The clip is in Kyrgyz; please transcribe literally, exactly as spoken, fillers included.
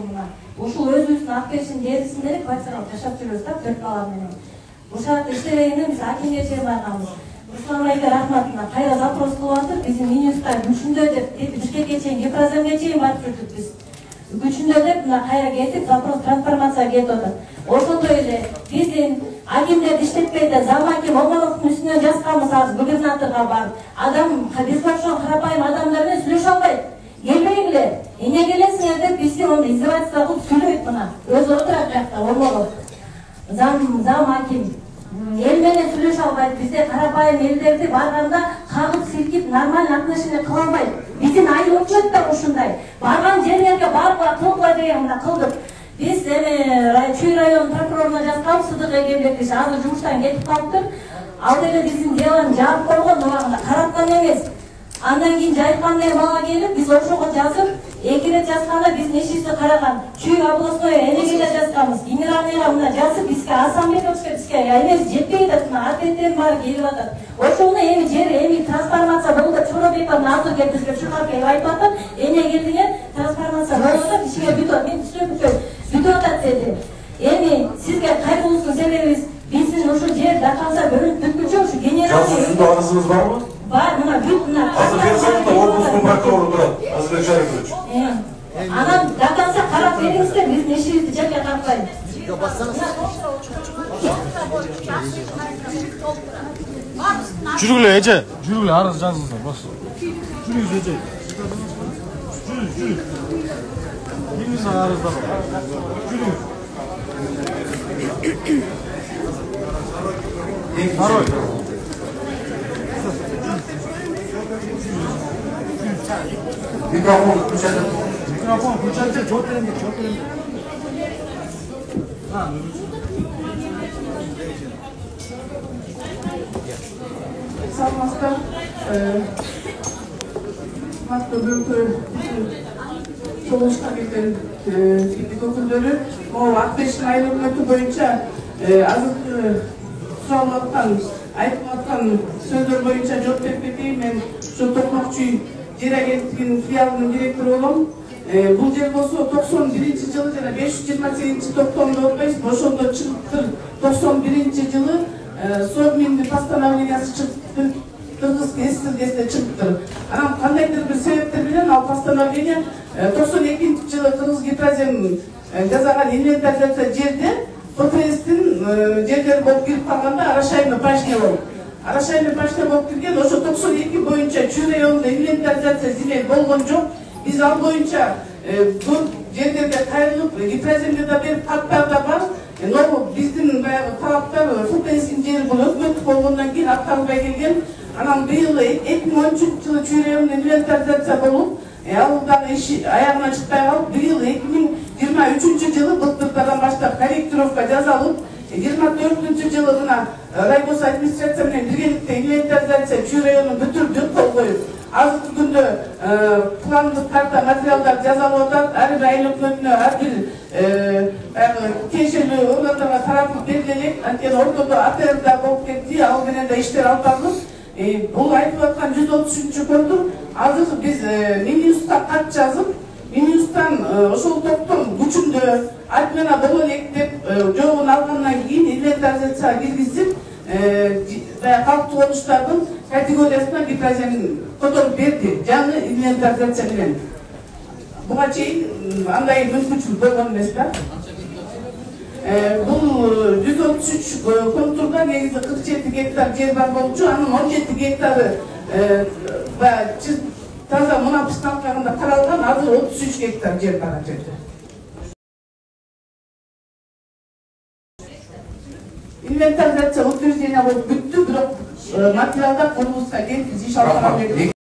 мына. Ушул өзүбүздүн Акбердиштин жерисинде эле квартиралар жашап жүрөбүз да, төрт бала менен. Ушул жакта иштебегенде биз акимге чейин барганбыз. Руслан айга рахмат, мына кайра запрос кылып атыр, биздин Минюста күчүндө деп, Бишкекке чейин, Гипраземге чейин барып жүрдүк биз. Күчүндө деп мына кайра кетип, запрос трансформация кетип атат. Ошондой эле биздин акимдерди иштетпейди, зам аким Омоновдун үстүнөн жазганбыз азыр губернаторго барып. Адам биз ошол карапайым адамдар менен сүйлөшө албайт. Келбейгиле, эмне келесиңер деп бизди онда издевательство кылып сүйлөйт мына. Өзү отурат жакта Омонов. Зам зам аким эл менен сүйлөшө албайт. Бизде карапайым элдерди барганда кагып силкип нормально отношение кыла албайт. Биздин айылчылык да ушундай. Барган жерлерге баргыла кылгыла деген мына кылдык. Биз эми Чүй район прокуроруна жазганбыз, Сыдык Эгембетович азыр жумуштан кетип калыптыр. Ал деле биздин делону жаап койгон, убагында караткан эмес. Андан кийин жайткан эле бала келип, биз ошого жазып, эки рет жазганда биздин ишибизди караган. Чүй областной энеге да жазганбыз. Генеральныйга мына жазып, бизге Асанбековичке бизге эмес жетпей атат, мына ответтердин баары келип атат. Ошону эми жер эми трансформация болду да Чоробеков азыр келип бизге чыгарып келип айтып атат. Эне келдиңер, трансформация болду да ишиңер бүтүп атат. Мен түшүнөм, бүтүп атат деди. Эми сизге кайгыбыздын себеби биздин ушул жер да калса бөлүнүп бүткүнчө ушу генеральный жазуусунда арызыңыз барбы? Бар, мына бүт мына. Азыр берсеңиз да облустун прокурору турат, Азырбек Шарипович. Анан да калса карап бериңиздер, биздин ишибизди жерге карпайын. Жүргүлө эже, жүргүлө арыз жазыңыздар, бас. Жүрүңүз эже. Жүрүңүз, жүрүңүз. Бириңиз арыздар. Жүрүңүз. Второй. Микрофон включайте. Микрофон включайте, жооп берем деп, жооп берем. Ha, Salmas'ta Hatta Bülkür Soğuştan gelen İplik okulları o Akbeş'in ayrılması boyunca azık sağlıktan, ayıtmaktan sözler boyunca cevap vermediğim ben şu Tokmakçı Yer Agentliğinin filialının direktörü olum. Bu yer bolsa doksan birinci жылы жана beş yüz yirmi sekizinci токтомдо отпайбыз, ошондо чыгыптыр. doksan birinci жылы Совминдин постановлениясы чыгыптыр. Кыргыз эстилгесине чыгыптыр. Анан кандайдыр бир себептер менен ал постановление doksan экинчи жылы Кыргыз Гипразем жасаган инвентаризация жерде ППСтин жерлери болуп кирип калганда арашайный пашня болуп. Арашайный пашня болуп кирген, ошо doksan эки боюнча Чүй районунда инвентаризация земель болгон жок. Биз ал боюнча бул жерлерге кайрылып, Гипраземге да берип каттар да бар. Но биздин баягы талаптар ФПСтин жери бул өкмөттүк болгондон кийин аткарылбай келген. Анан быйыл эки миң он үчүнчү жылы Чүй районунда инвентаризация болуп, ал дагы иши аягына чыкпай калып, быйыл эки миң жыйырма үчүнчү жылы былтырдан баштап корректировка жасалып, жыйырма төртүнчү жылы мына райгос администрация менен биргеликте инвентаризация Чүй районун бүтүрдүк, кол коюп, азыркы күндө пландык карта материалдар жасалып атат. Ар бир айыл өкмөтүнө ар бир тиешелүү органдарга таратылып берилет. Анткени ортодо АТР да болуп кетти, ал менен да иштер алып барылып, бул айтып аткан жүз отуз үчүнчү контур азыр биз Минюстка кат жазып, Минюстан ошол топтун күчүндө отмена боло элек деп жообун алгандан кийин инвентаризацияга киргизип, калктуу конуштардын категориясына Гипразем которуп берди, жаңы инвентаризация менен. Буга чейин андай мүмкүнчүлүк болгон эмес да. Бул жүз отуз үч контурда негизи кырк жети гектар жер бар болчу, анын он жети гектары таза мунапысталкагында каралган, азыр отуз үч гектар жер бар жерде. Инвентаризация утверждение болуп бүттү, бирок материалдар корпуска келип иш алып бара берди.